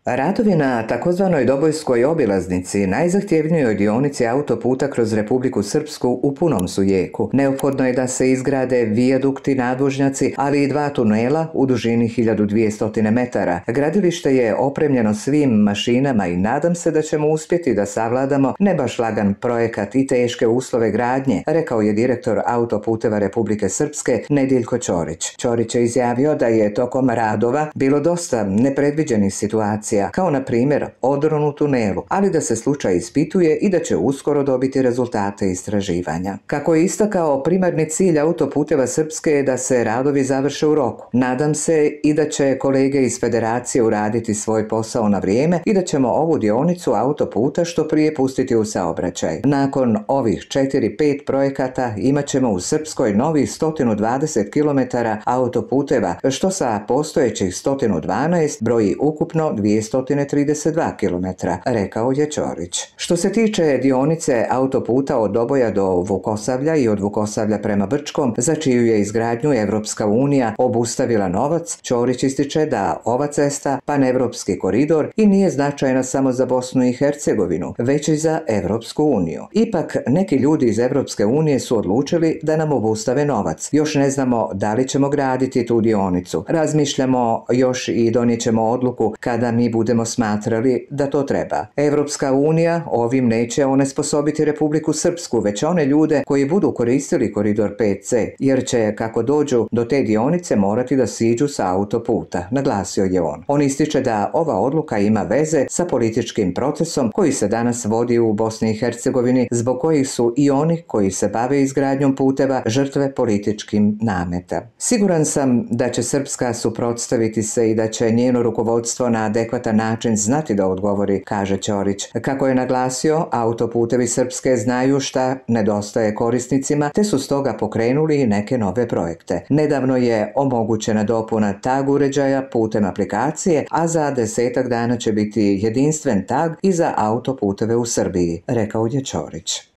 Radovi na takozvanoj Dobojskoj obilaznici, najzahtjevnijoj dionici autoputa kroz Republiku Srpsku, u punom su jeku. Neophodno je da se izgrade vijadukti, nadvožnjaci, ali i dva tunela u dužini 1200 metara. Gradilište je opremljeno svim mašinama i nadam se da ćemo uspjeti da savladamo ne baš lagan projekat i teške uslove gradnje, rekao je direktor Autoputeva Republike Srpske Nediljko Ćorić. Ćorić je izjavio da je tokom radova bilo dosta nepredviđenih situacija, kao na primjer odron u tunelu, ali da se slučaj ispituje i da će uskoro dobiti rezultate istraživanja. Kako je istakao, primarni cilj Autoputeva Srpske je da se radovi završe u roku. Nadam se i da će kolege iz Federacije uraditi svoj posao na vrijeme i da ćemo ovu dionicu autoputa što prije pustiti u saobraćaj. Nakon ovih 4-5 projekata imat ćemo u Srpskoj novih 120 km autoputeva, što sa postojećih 112 broji ukupno 232 km, rekao je Ćorić. Što se tiče dionice autoputa od Doboja do Vukosavlja i od Vukosavlja prema Brčkom, za čiju je izgradnju Evropska unija obustavila novac, Ćorić ističe da ova cesta panevropski koridor i nije značajna samo za Bosnu i Hercegovinu, već i za Evropsku uniju. Ipak, neki ljudi iz Evropske unije su odlučili da nam obustave novac. Još ne znamo da li ćemo graditi tu dionicu. Razmišljamo još i donijećemo odluku kada mi budemo smatrali da to treba. Evropska unija ovim neće onesposobiti Republiku Srpsku, već one ljude koji budu koristili koridor 5C, jer će, kako dođu do te dionice, morati da siđu sa autoputa, naglasio je on. On ističe da ova odluka ima veze sa političkim procesom koji se danas vodi u Bosni i Hercegovini, zbog kojih su i oni koji se bave izgradnjom puteva žrtve političkim nameta. Siguran sam da će Srpska suprotstaviti se i da će njeno rukovodstvo na adekvatan način znati da odgovori, kaže Ćorić. Kako je naglasio, autoputevi Srpske znaju šta nedostaje korisnicima, te su stoga pokrenuli i neke nove projekte. Nedavno je omogućena dopuna tag uređaja putem aplikacije, a za 10 dana će biti jedinstven tag i za autoputeve u Srbiji, rekao je Ćorić.